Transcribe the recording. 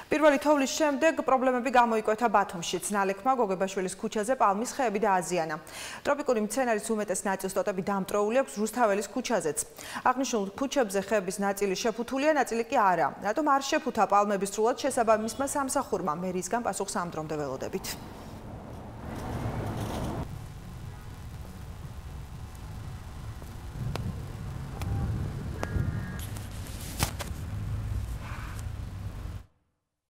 პირველი თოვლის შემდეგ პრობლემები გამოიკვეთა ბათუმშიც. ნალექმა გოგებაშვილის ქუჩაზე პალმის ხეები დააზიანა. ტროპიკული მცენარის უმეტეს ნაწილს ტოტები დამტროული აქვს რუსთაველის ქუჩაზეც. აღნიშნულ ქუჩებზე ხეების ნაწილი შეფუთულია, ნაწილი კი არა. რატომ არ შეფუთა პალმები სრულად შესაბამისმა სამსახურმა? მერიისგან პასუხს ამ დრომდე ველოდებით.